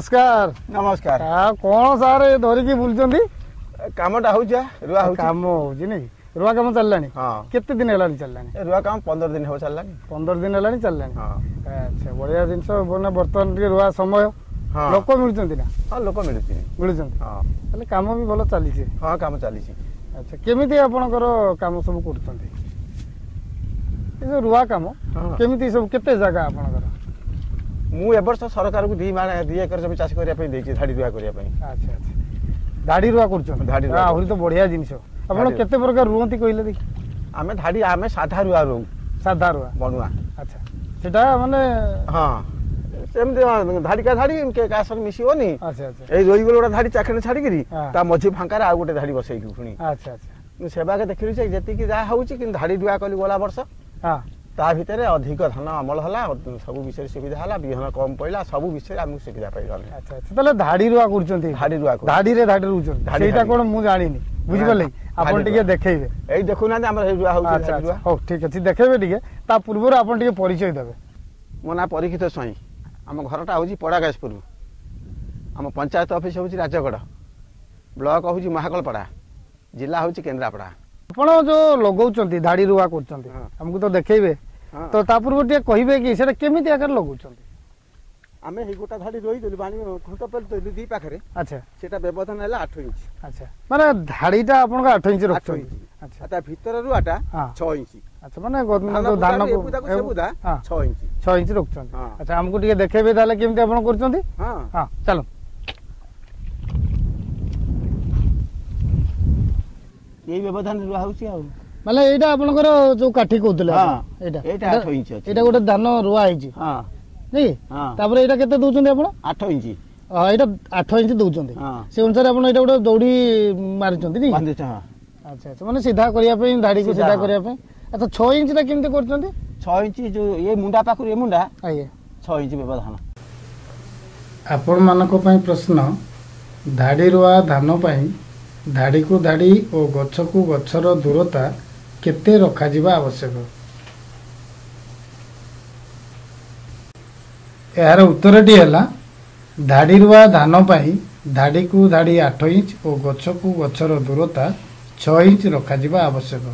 ନମସ୍କାର। ନମସ୍କାର। ଆଉ କଣ ସାର୍ ଧରିକି ବୁଲୁଛନ୍ତି? କାମଟା ହଉଛି, ରୁଆ ହଉଛି। କାମ ହଉଛି ନାଇଁ? ରୁଆ କାମ ଚାଲିଲାଣି? ହଁ। କେତେ ଦିନ ହେଲାଣି ଚାଲିଲାଣି ରୁଆ କାମ? 15 ଦିନ ହବ ଚାଲିଲାଣି। 15 ଦିନ ହେଲାଣି ଚାଲିଲାଣି। ଆଚ୍ଛା, ବଢିଆ ଜିନିଷ। ମାନେ ବର୍ତ୍ତମାନ ଟିକେ ରୁଆ ସମୟ, ଲୋକ ମିଳୁଛନ୍ତି ନା? ହଁ, ଲୋକ ମିଳୁଛି। ମିଳୁଛନ୍ତି। ତାହେଲେ କାମ ବି ଭଲ ଚାଲିଛି? ହଁ, କାମ ଚାଲିଛି। ଆଚ୍ଛା, କେମିତି ଆପଣଙ୍କର କାମ ସବୁ କରୁଛନ୍ତି? ଏ ଯୋଉ ରୁଆ କାମ କେମିତି ସବୁ, କେତେ ଜାଗା ଆପଣଙ୍କର? ମୁଁ ଏ ବର୍ଷ ସରକାରକୁ 2 ମାଣ 2 ଏକର ଜମି ଚାଷ କରିବା ପାଇଁ ଦେଇଛି, ଧାଡ଼ି ରୁଆ କରିବା ପାଇଁ। ଆଚ୍ଛା ଆଚ୍ଛା, ଧାଡ଼ି ରୁଆ କରୁଛନ୍ତି? ଧାଡ଼ି। ଆହୁରି ତ ବଢିଆ ଜିନିଷ। ଆପଣ କେତେ ପ୍ରକାର ରୁହନ୍ତି କହିଲେ ଦେଖି? ଆମେ ଧାଡ଼ି, ଆମେ ସାଧା ରୁଆ ରହୁ। ସାଧା ରୁଆ, ବଣୁଆ। ଆଚ୍ଛା, ସେଟା ମାନେ? ହଁ, ସେମିତି ଧାଡ଼ିକା ଧାଡ଼ି, କାହା ସହ ମିଶିବନି। ଆଚ୍ଛା ଆଚ୍ଛା। ଏଇ ରୋଇଗଲେ ଗୋଟେ ଧାଡ଼ି ଚାଖେଣେ ଛାଡ଼ିକିରି ତା ମଝି ଫାଙ୍କାରେ ଆଉ ଗୋଟେ ଧାଡ଼ି ବସେଇଲୁ ପୁଣି। ଆଚ୍ଛା ଆଚ୍ଛା। ମୁଁ ସେବାକେ ଦେଖିଲି ଯେ ଯେତିକି ଯାହା ହଉଛି, କିନ୍ତୁ ଧାଡ଼ି ରୁଆ କଲି ଗଲା ବର୍ଷ, ତା ଭିତରେ ଅଧିକ ଧାନ ଅମଳ ହେଲା, ସବୁ ବିଷୟରେ ସୁବିଧା ହେଲା, ବିହନ କମ ପଇଲା, ସବୁ ବିଷୟରେ ଆମକୁ ସୁବିଧା ପାଇଗଲେ। ଆଚ୍ଛା ଆଚ୍ଛା, ତାହେଲେ ଧାଡ଼ି ରୁଆ କରୁଛନ୍ତି? ଧାଡ଼ି ରୁଆ। ଧାଡ଼ିରେ ଧାଡ଼ି ରୁଛନ୍ତି, ସେଇଟା କଣ ମୁଁ ଜାଣିନି, ବୁଝିପାରିଲେ? ଆପଣ ଟିକେ ଦେଖେଇବେ। ଏଇ ଦେଖୁନାହାନ୍ତି, ଆମର ଏଇ ରୁଆ ହଉଛି। ଆଚ୍ଛା, ହଉ ଠିକ ଅଛି, ଦେଖେଇବେ ଟିକେ। ତା ପୂର୍ବରୁ ଆପଣ ଟିକେ ପରିଚୟ ଦେବେ। ମୋ ନାଁ ପରୀକ୍ଷିତ ସ୍ୱାଇଁ। ଆମ ଘରଟା ହେଉଛି ପଡ଼ାଗାଜପୁର। ଆମ ପଞ୍ଚାୟତ ଅଫିସ ହେଉଛି ରାଜଗଡ଼, ବ୍ଲକ ହେଉଛି ମହାକଳପଡ଼ା, ଜିଲ୍ଲା ହେଉଛି କେନ୍ଦ୍ରାପଡ଼ା। ଆପଣ ଯୋଉ ଲଗାଉଛନ୍ତି, ଧାଡ଼ି ରୁଆ କରୁଛନ୍ତି, ଆମକୁ ତ ଦେଖେଇବେ, ତ ତା ପୂର୍ବରୁ ଟିକେ କହିବେ କି ସେଟା କେମିତି ଆକାର ଲଗାଉଛନ୍ତି? ଆମେ ଏଇ ଗୋଟା ଧାଡ଼ି ରୋଇଦେଲୁ, ବାଣି ଖୁଣ୍ଟ ପେଲି ଦି ପାଖରେ। ଆଚ୍ଛା। ସେଟା ବ୍ୟବଧାନ ହେଲା 8 ଇଞ୍ଚ। ଆଚ୍ଛା, ମାନେ ଧାଡ଼ିଟା ଆପଣଙ୍କ 8 ଇଞ୍ଚ ରଖୁଛନ୍ତି? ଆଚ୍ଛା। ତା ଭିତର ରୁଆଟା 6 ଇଞ୍ଚ। ଆଚ୍ଛା, ମାନେ ଧାନ 6 ଇଞ୍ଚ, 6 ଇଞ୍ଚ ରଖୁଛନ୍ତି। ଆଚ୍ଛା, ଆମକୁ ଟିକେ ଦେଖେଇବେ ତାହେଲେ କେମିତି ଆପଣ କରୁଛନ୍ତି? ହଁ, ଚାଲ। ଏଇ ବ୍ୟବଧାନ ରୁଆ ହଉଛି। ଆଉ ମାନେ ଏଇଟା ଆପଣଙ୍କର ଯୋଉ କାଠି କହୁଥିଲେ, ଏଇଟା ଏଇଟା 8 ଇଞ୍ଚ ଅଛି। ଏଇଟା ଗୋଟେ ଧାନ ରୁଆ ହେଇଛି ନାଇଁ? ତାପରେ ଏଇଟା କେତେ ଦଉଛନ୍ତି ଆପଣ? 8 ଇଞ୍ଚ। ଏଇଟା 8 ଇଞ୍ଚ ଦଉଛନ୍ତି। ସେ ଅନୁସାରେ ଆପଣ ଏଇଟା ଗୋଟେ ଦୌଡ଼ି ମାରିଛନ୍ତି ନାଇଁ? ଆଚ୍ଛା ଆଚ୍ଛା, ମାନେ ସିଧା କରିବା ପାଇଁ, ଧାଡ଼ିକୁ ସିଧା କରିବା ପାଇଁ। ଆଚ୍ଛା, 6 ଇଞ୍ଚଟା କେମିତି କରୁଛନ୍ତି? 6 ଇଞ୍ଚ ଯୋଉ ଏ ମୁଣ୍ଡା ପାଖରୁ ଏ ମୁଣ୍ଡା, ଆଜ୍ଞା, 6 ଇଞ୍ଚ ବ୍ୟବଧାନ। ଆପଣମାନଙ୍କ ପାଇଁ ପ୍ରଶ୍ନ, ଧାଡ଼ି ରୁଆ ଧାନ ପାଇଁ ଧାଡ଼ିକୁ ଧାଡ଼ି ଓ ଗଛକୁ ଗଛର ଦୂରତା କେତେ ରଖାଯିବା ଆବଶ୍ୟକ? ଏହାର ଉତ୍ତରଟି ହେଲା, ଧାଡ଼ି ରୁଆ ଧାନ ପାଇଁ ଧାଡ଼ିକୁ ଧାଡ଼ି 8 ଇଞ୍ଚ ଓ ଗଛକୁ ଗଛର ଦୂରତା 6 ଇଞ୍ଚ ରଖାଯିବା ଆବଶ୍ୟକ।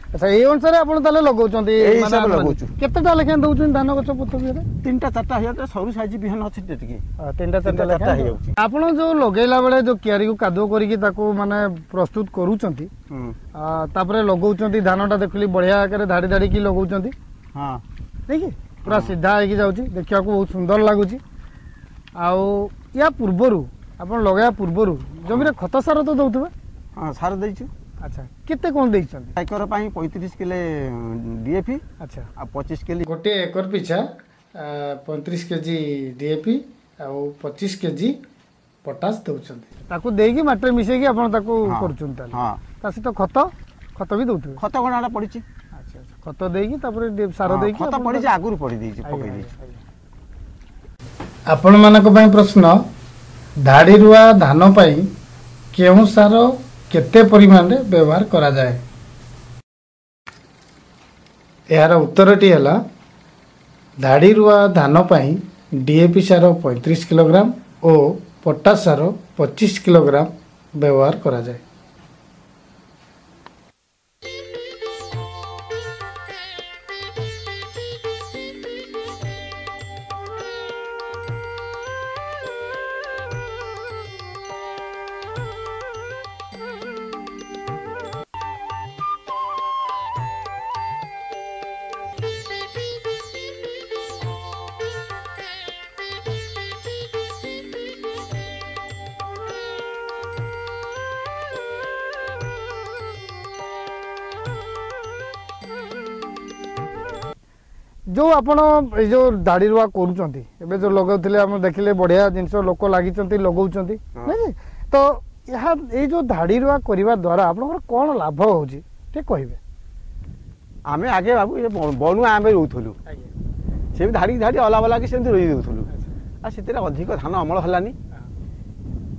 ଆଚ୍ଛା, ଏଇ ଅନୁସାରେ ଆପଣ ତାହେଲେ ଲଗାଉଛନ୍ତି? ଏଇ ହିସାବରେ ଲଗାଉଛୁ। କେତେଟା ଲେଖାଏଁ ଦଉଛନ୍ତି ଧାନ ଗଛ ପୋତବିରେ? 3ଟା 4ଟା ହେଇଯାଉଛି, ସରୁ ସାଇଜ ବିହନ ଅଛି ଟିକେ, 3ଟା 4ଟା ଲେଖାଏଁ ହେଇଯାଉଛି। ଆପଣ ଯୋଉ ଲଗେଇଲା ବେଳେ ଯୋଉ କିଆରିକୁ କାଦୁଅ କରିକି ତାକୁ ମାନେ ପ୍ରସ୍ତୁତ କରୁଛନ୍ତି, ତାପରେ ଲଗାଉଛନ୍ତି ଧାନଟା, ଦେଖିଲି ବଢିଆ ଆକାରରେ ଧାଡ଼ି ଧାଡ଼ିକି ଲଗାଉଛନ୍ତି। ହଁ, ନାଇଁ ପୁରା ସିଧା ହେଇକି ଯାଉଛି, ଦେଖିବାକୁ ବହୁତ ସୁନ୍ଦର ଲାଗୁଛି। ଆଉ ୟା ପୂର୍ବରୁ ଆପଣ ଲଗାଇବା ପୂର୍ବରୁ ଜମିରେ ଖତ ସାର ତ ଦଉଥିବେ? ହଁ, ସାର ଦେଇଛୁ। ଆଚ୍ଛା, କେତେ କଣ ଦେଇଛନ୍ତି? ଏକର ପାଇଁ 35 କିଲୋ ଡିଏପି। ଆଚ୍ଛା। ଆଉ 25 କେଜି। ଗୋଟିଏ ଏକର ପିଛା 35 କେଜି ଡିଏପି ଆଉ 25 କେଜି ପଟାସ ଦେଉଛନ୍ତି। ତାକୁ ଦେଇକି ମାଟିରେ ମିଶେଇକି ଆପଣ ତାକୁ କରୁଛନ୍ତି ତାହେଲେ? ହଁ। ତା ସହିତ ଖତ ବି ଦଉଥିବେ? ଖତ ଗଣାଟା ପଡ଼ିଛି। ଆଚ୍ଛା ଆଚ୍ଛା, ଖତ ଦେଇକି ତାପରେ ସାର ଦେଇକି। ଖତ ପଡ଼ିଛି, ଆଗରୁ ପଡ଼ି ଦେଇଛି, ପକେଇ ଦେଇଛି। ଆପଣମାନଙ୍କ ପାଇଁ ପ୍ରଶ୍ନ, ଧାଡ଼ି ରୁଆ ଧାନ ପାଇଁ କେଉଁ ସାର କେତେ ପରିମାଣରେ ବ୍ୟବହାର କରାଯାଏ? ଏହାର ଉତ୍ତରଟି ହେଲା, ଧାଡ଼ି ରୁଆ ଧାନ ପାଇଁ ଡିଏପି ସାର 35 କିଲୋଗ୍ରାମ ଓ ପଟାସ ସାର 25 କିଲୋଗ୍ରାମ ବ୍ୟବହାର କରାଯାଏ। ଯୋଉ ଆପଣ ଏଇ ଯୋଉ ଧାଡ଼ି ରୁଆ କରୁଛନ୍ତି, ଏବେ ଯୋଉ ଲଗାଉଥିଲେ ଆମେ ଦେଖିଲେ ବଢିଆ ଜିନିଷ, ଲୋକ ଲାଗିଛନ୍ତି ଲଗାଉଛନ୍ତି ନାଇଁ ତ? ଏହା ଏଇ ଯୋଉ ଧାଡ଼ି ରୁଆ କରିବା ଦ୍ୱାରା ଆପଣଙ୍କର କ'ଣ ଲାଭ ହଉଛି ଟିକେ କହିବେ? ଆମେ ଆଗେ ବାବୁ ଏ ବଣୁଆ ଆମେ ରହୁଥିଲୁ, ସେମିତି ଧାଡ଼ି ଧାଡ଼ି ଅଲା ବଲା କି ସେମିତି ରୋଇ ଦେଉଥିଲୁ, ଆଉ ସେଥିରେ ଅଧିକ ଧାନ ଅମଳ ହେଲାନି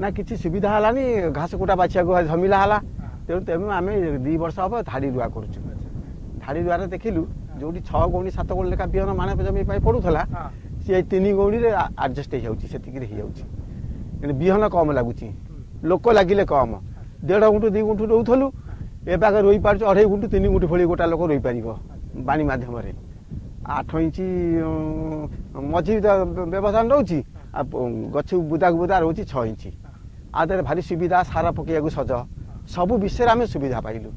ନା କିଛି ସୁବିଧା ହେଲାନି, ଘାସ କୁଟା ବାଛିବାକୁ ଝମିଲା ହେଲା। ତେଣୁ ଆମେ 2 ବର୍ଷ ହବ ଧାଡ଼ି ରୁଆ କରୁଛୁ। ଧାଡ଼ି ରୁଆରେ ଦେଖିଲୁ ଯୋଉଠି 6 ଗଉଣୀ 7 ଗଉଣୀ ଲେଖା ବିହନ ମାଣେ ଜମି ପାଇଁ ପଡୁଥିଲା, ସିଏ 3 ଗଉଣୀରେ ଆଡ଼ଜଷ୍ଟ ହେଇଯାଉଛି, ସେତିକିରେ ହେଇଯାଉଛି। ବିହନ କମ୍ ଲାଗୁଛି, ଲୋକ ଲାଗିଲେ କମ୍। 1.5 ଗୁଣ୍ଠୁ 2 ଗୁଣ୍ଠୁ ରହୁଥିଲୁ, ଏବେ ଆଗ ରୋଇ ପାରୁଛୁ 2.5 ଗୁଣ୍ଠୁ 3 ଗୁଣ୍ଠୁ ଭଳି ଗୋଟା ଲୋକ ରୋଇପାରିବ ବାଣି ମାଧ୍ୟମରେ। 8 ଇଞ୍ଚ ମଝି ବ୍ୟବଧାନ ରହୁଛି, ଆଉ ଗଛ ବୁଦାକୁ ବୁଦା ରହୁଛି 6 ଇଞ୍ଚ। ଆଉ ତାର ଭାରି ସୁବିଧା, ସାର ପକେଇବାକୁ ସଜ, ସବୁ ବିଷୟରେ ଆମେ ସୁବିଧା ପାଇଲୁ।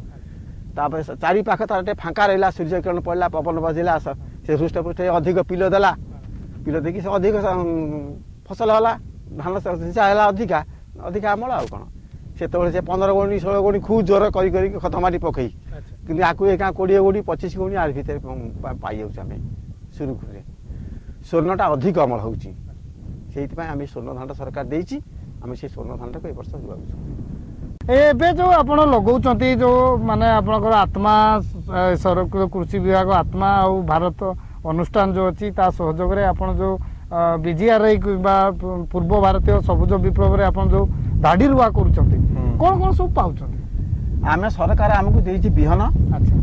ତାପରେ ଚାରିପାଖ ତାର ଟିକେ ଫାଙ୍କା ରହିଲା, ସୂର୍ଯ୍ୟକିରଣ ପଡ଼ିଲା, ପବନ ବାଜିଲା, ସେ ହୃଷ୍ଟପୃଷ୍ଟ ଅଧିକ ପିଲ ଦେଲା, ପିଲ ଦେଇକି ସେ ଅଧିକ ଫସଲ ହେଲା, ଧାନ ସିଞ୍ଚା ହେଲା, ଅଧିକା ଅଧିକା ଅମଳ। ଆଉ କ'ଣ ସେତେବେଳେ ସେ 15 ଗୁଣି 16 ଗୁଣି ଖୁବ୍ ଜୋର କରି କରିକି ଖତ ମାଟି ପକେଇ, କିନ୍ତୁ ଆକୁ ଏକା 20 ଗୁଣି 25 ଗୁଣି ଆର ଭିତରେ ପାଇଯାଉଛୁ ଆମେ ସୁରୁଖୁରୁରେ। ସ୍ୱର୍ଣ୍ଣଟା ଅଧିକ ଅମଳ ହେଉଛି, ସେଇଥିପାଇଁ ଆମେ ସ୍ୱର୍ଣ୍ଣ ଧାନଟା ସରକାର ଦେଇଛି, ଆମେ ସେଇ ସ୍ୱର୍ଣ୍ଣ ଧାନଟାକୁ ଏ ବର୍ଷ ଲଗାଉଛୁ। ଏବେ ଯେଉଁ ଆପଣ ଲଗାଉଛନ୍ତି, ଯେଉଁ ମାନେ ଆପଣଙ୍କର ଆତ୍ମା ସରକାର କୃଷି ବିଭାଗ ଆତ୍ମା ଆଉ ଭାରତ ଅନୁଷ୍ଠାନ ଯେଉଁ ଅଛି ତା ସହଯୋଗରେ ଆପଣ ଯେଉଁ ବିଜିଆର୍ଆଇ କିମ୍ବା ପୂର୍ବ ଭାରତୀୟ ସବୁଜ ବିପ୍ଳବରେ ଆପଣ ଯେଉଁ ଧାଡ଼ି ରୁଆ କରୁଛନ୍ତି, କ'ଣ କ'ଣ ସବୁ ପାଉଛନ୍ତି? ଆମେ ସରକାର ଆମକୁ ଦେଇଛି ବିହନ, ଆଚ୍ଛା,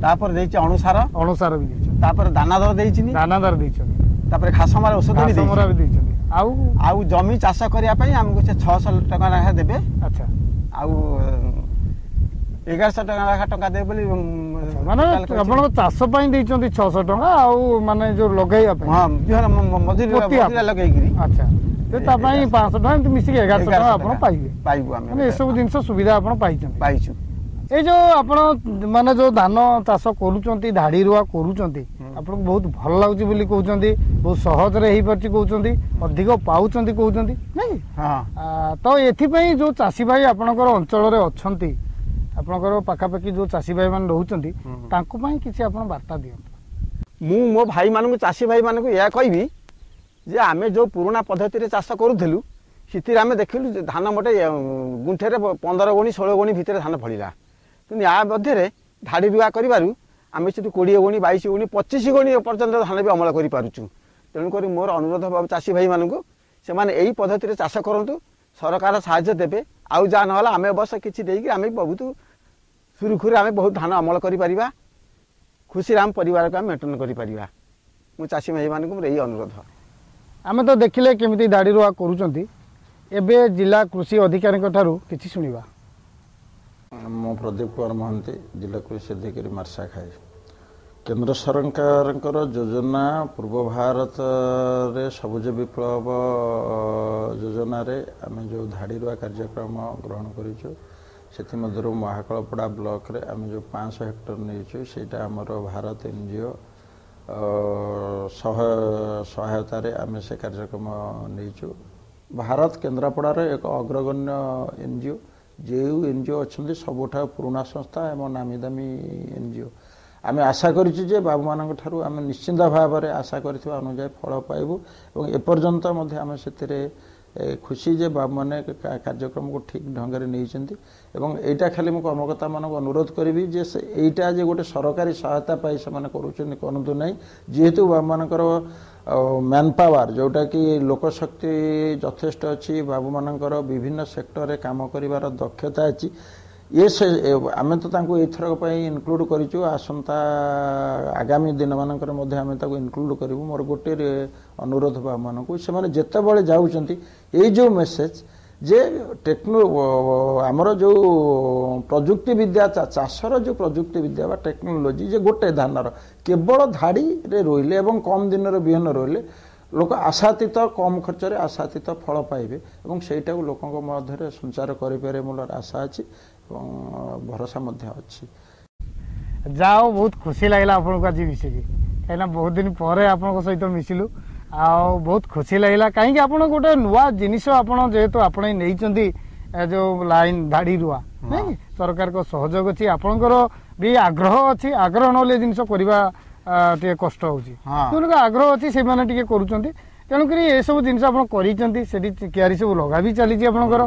ତାପରେ ଦେଇଛି ଅଣୁସାର, ଅଣୁସାର ବି ଦେଇଛନ୍ତି, ତାପରେ ଦାନାଦାର ଦେଇଛି, ଦାନାଦାର ଦେଇଛନ୍ତି, ତାପରେ ଘାସ ମରା ଔଷଧ ବି ଦେଇଛନ୍ତି, ଆଉ ଆଉ ଜମି ଚାଷ କରିବା ପାଇଁ ଆମକୁ ସେ 600 ଟଙ୍କା ଲେଖା ଦେବେ। ଆଚ୍ଛା, ଆଉ 1100 ଟଙ୍କା ଲେଖା ଟଙ୍କା ଦେବେ ବୋଲି। ମାନେ ଆପଣଙ୍କ ଚାଷ ପାଇଁ ଦେଇଛନ୍ତି 600 ଟଙ୍କା, ଆଉ ମାନେ ଯୋଉ ଲଗେଇବା ପାଇଁ? ହଁ, ବିହନ ମଜୁରୀ ଲଗେଇକିରି। ଆଚ୍ଛା, ତା ପାଇଁ 500 ଟଙ୍କା, ଏମିତି ମିଶିକି 1100 ଟଙ୍କା ଆପଣ ପାଇବେ। ପାଇବୁ ଆମେ। ମାନେ ଏସବୁ ଜିନିଷ ସୁବିଧା ଆପଣ ପାଇଛନ୍ତି? ପାଇଛୁ। ଏଇ ଯୋଉ ଆପଣ ମାନେ ଯୋଉ ଧାନ ଚାଷ କରୁଛନ୍ତି, ଧାଡ଼ି ରୁଆ କରୁଛନ୍ତି, ଆପଣଙ୍କୁ ବହୁତ ଭଲ ଲାଗୁଛି ବୋଲି କହୁଛନ୍ତି, ବହୁତ ସହଜରେ ହେଇପାରୁଛି କହୁଛନ୍ତି, ଅଧିକ ପାଉଛନ୍ତି କହୁଛନ୍ତି, ନାଇଁ? ତ ଏଥିପାଇଁ ଯୋଉ ଚାଷୀ ଭାଇ ଆପଣଙ୍କର ଅଞ୍ଚଳରେ ଅଛନ୍ତି, ଆପଣଙ୍କର ପାଖାପାଖି ଯୋଉ ଚାଷୀ ଭାଇ ମାନେ ରହୁଛନ୍ତି, ତାଙ୍କ ପାଇଁ କିଛି ଆପଣ ବାର୍ତ୍ତା ଦିଅନ୍ତୁ। ମୁଁ ମୋ ଭାଇମାନଙ୍କୁ, ଚାଷୀ ଭାଇମାନଙ୍କୁ ଏହା କହିବି ଯେ ଆମେ ଯେଉଁ ପୁରୁଣା ପଦ୍ଧତିରେ ଚାଷ କରୁଥିଲୁ, ସେଥିରେ ଆମେ ଦେଖିଲୁ ଧାନ ମୋଟେ ଗୁଣ୍ଠେରେ 15 ଗୁଣି 16 ଗୁଣି ଭିତରେ ଧାନ ଫଳିଲା। କିନ୍ତୁ ୟା ମଧ୍ୟରେ ଧାଡ଼ି ରୁଆ କରିବାରୁ ଆମେ ସେଠୁ 20 ଗୁଣି 22 ଗୁଣି 25 ଗୁଣି ପର୍ଯ୍ୟନ୍ତ ଧାନ ବି ଅମଳ କରିପାରୁଛୁ। ତେଣୁକରି ମୋର ଅନୁରୋଧ ଚାଷୀ ଭାଇମାନଙ୍କୁ, ସେମାନେ ଏଇ ପଦ୍ଧତିରେ ଚାଷ କରନ୍ତୁ, ସରକାର ସାହାଯ୍ୟ ଦେବେ। ଆଉ ଯାହା ନହେଲା ଆମେ ଅବଶ୍ୟ କିଛି ଦେଇକି ଆମେ ବହୁତ ସୁରୁଖୁରୁରେ ଆମେ ବହୁତ ଧାନ ଅମଳ କରିପାରିବା, ଖୁସିରେ ଆମ ପରିବାରକୁ ଆମେ ମେଣ୍ଟେନ୍ କରିପାରିବା। ମୁଁ ଚାଷୀ ଭାଇମାନଙ୍କୁ ମୋର ଏଇ ଅନୁରୋଧ। ଆମେ ତ ଦେଖିଲେ କେମିତି ଧାଡ଼ି ରୁଆ କରୁଛନ୍ତି, ଏବେ ଜିଲ୍ଲା କୃଷି ଅଧିକାରୀଙ୍କ ଠାରୁ କିଛି ଶୁଣିବା। ମୁଁ ପ୍ରଦୀପ କୁମାର ମହାନ୍ତି, ଜିଲ୍ଲା କୃଷି ଅଧିକାରୀ, ମାର୍ଶାଘାଇ। କେନ୍ଦ୍ର ସରକାରଙ୍କର ଯୋଜନା ପୂର୍ବ ଭାରତରେ ସବୁଜ ବିପ୍ଳବ ଯୋଜନାରେ ଆମେ ଯେଉଁ ଧାଡ଼ି ରୁଆ କାର୍ଯ୍ୟକ୍ରମ ଗ୍ରହଣ କରିଛୁ, ସେଥିମଧ୍ୟରୁ ମହାକାଳପଡ଼ା ବ୍ଲକରେ ଆମେ ଯେଉଁ 500 ହେକ୍ଟର ନେଇଛୁ, ସେଇଟା ଆମର ଭାରତ NGO ସହାୟତାରେ ଆମେ ସେ କାର୍ଯ୍ୟକ୍ରମ ନେଇଛୁ। ଭାରତ କେନ୍ଦ୍ରାପଡ଼ାର ଏକ ଅଗ୍ରଗଣ୍ୟ NGO, ଯେଉଁ NGO ଅଛନ୍ତି ସବୁଠାରୁ ପୁରୁଣା ସଂସ୍ଥା ଏବଂ ନାମୀ ଦାମୀ NGO। ଆମେ ଆଶା କରିଛୁ ଯେ ବାବୁମାନଙ୍କ ଠାରୁ ଆମେ ନିଶ୍ଚିନ୍ତ ଭାବରେ ଆଶା କରିଥିବା ଅନୁଯାୟୀ ଫଳ ପାଇବୁ, ଏବଂ ଏପର୍ଯ୍ୟନ୍ତ ମଧ୍ୟ ଆମେ ସେଥିରେ ଖୁସି ଯେ ବାବୁମାନେ କାର୍ଯ୍ୟକ୍ରମକୁ ଠିକ୍ ଢଙ୍ଗରେ ନେଇଛନ୍ତି। ଏବଂ ଏଇଟା ଖାଲି ମୁଁ କର୍ମକର୍ତ୍ତାମାନଙ୍କୁ ଅନୁରୋଧ କରିବି ଯେ ସେ ଏଇଟା ଯେ ଗୋଟେ ସରକାରୀ ସହାୟତା ପାଇ ସେମାନେ କରୁଛନ୍ତି କରନ୍ତୁ ନାହିଁ, ଯେହେତୁ ବାବୁମାନଙ୍କର ମ୍ୟାନ୍ ପାୱାର ଯେଉଁଟାକି ଲୋକଶକ୍ତି ଯଥେଷ୍ଟ ଅଛି, ବାବୁମାନଙ୍କର ବିଭିନ୍ନ ସେକ୍ଟରରେ କାମ କରିବାର ଦକ୍ଷତା ଅଛି, ଇଏ ସେ ଆମେ ତ ତାଙ୍କୁ ଏଇଥରକ ପାଇଁ ଇନକ୍ଲୁଡ଼ କରିଛୁ, ଆସନ୍ତା ଆଗାମୀ ଦିନମାନଙ୍କରେ ମଧ୍ୟ ଆମେ ତାକୁ ଇନକ୍ଲୁଡ଼ କରିବୁ। ମୋର ଗୋଟିଏ ଅନୁରୋଧ ବାବୁମାନଙ୍କୁ, ସେମାନେ ଯେତେବେଳେ ଯାଉଛନ୍ତି ଏଇ ଯେଉଁ ମେସେଜ ଯେ ଆମର ଯେଉଁ ପ୍ରଯୁକ୍ତି ବିଦ୍ୟା, ଚାଷର ଯେଉଁ ପ୍ରଯୁକ୍ତି ବିଦ୍ୟା ବା ଟେକ୍ନୋଲୋଜି, ଯେ ଗୋଟେ ଧାନର କେବଳ ଧାଡ଼ିରେ ରୋଇଲେ ଏବଂ କମ୍ ଦିନର ବିହନ ରୋଇଲେ ଲୋକ ଆଶାତୀତ କମ୍ ଖର୍ଚ୍ଚରେ ଆଶାତୀତ ଫଳ ପାଇବେ, ଏବଂ ସେଇଟାକୁ ଲୋକଙ୍କ ମଧ୍ୟରେ ସଞ୍ଚାର କରିପାରିବେ ମୋର ଆଶା ଅଛି ଏବଂ ଭରସା ମଧ୍ୟ ଅଛି। ଯାହା ହଉ, ବହୁତ ଖୁସି ଲାଗିଲା ଆପଣଙ୍କୁ ଆଜି ମିଶିକି, କାହିଁକିନା ବହୁତ ଦିନ ପରେ ଆପଣଙ୍କ ସହିତ ମିଶିଲୁ ଆଉ ବହୁତ ଖୁସି ଲାଗିଲା। କାହିଁକି ଆପଣ ଗୋଟେ ନୂଆ ଜିନିଷ ଆପଣ ଯେହେତୁ ଆପଣ ନେଇଛନ୍ତି ଯେଉଁ ଲାଇନ୍ ଧାଡ଼ି ରୁଆ, ନାଇଁ ସରକାରଙ୍କ ସହଯୋଗ ଅଛି, ଆପଣଙ୍କର ବି ଆଗ୍ରହ ଅଛି, ଆଗ୍ରହ ନହେଲେ ଜିନିଷ କରିବା ଟିକେ କଷ୍ଟ ହେଉଛି, ତେଣୁ ଆଗ୍ରହ ଅଛି ସେମାନେ ଟିକେ କରୁଛନ୍ତି। ତେଣୁକରି ଏସବୁ ଜିନିଷ ଆପଣ କରିଛନ୍ତି, ସେଠି କିଆରି ସବୁ ଲଗା ବି ଚାଲିଛି ଆପଣଙ୍କର।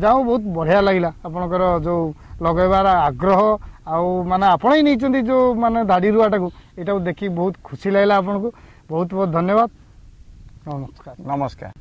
ଯାହା ହଉ, ବହୁତ ବଢ଼ିଆ ଲାଗିଲା ଆପଣଙ୍କର ଯେଉଁ ଲଗାଇବାର ଆଗ୍ରହ, ଆଉ ମାନେ ଆପଣ ହିଁ ନେଇଛନ୍ତି ଯେଉଁ ମାନେ ଧାଡ଼ି ରୁଆଟାକୁ, ଏଇଟାକୁ ଦେଖି ବହୁତ ଖୁସି ଲାଗିଲା ଆପଣଙ୍କୁ। ବହୁତ ବହୁତ ଧନ୍ୟବାଦ, ନମସ୍କାର। ନମସ୍କାର।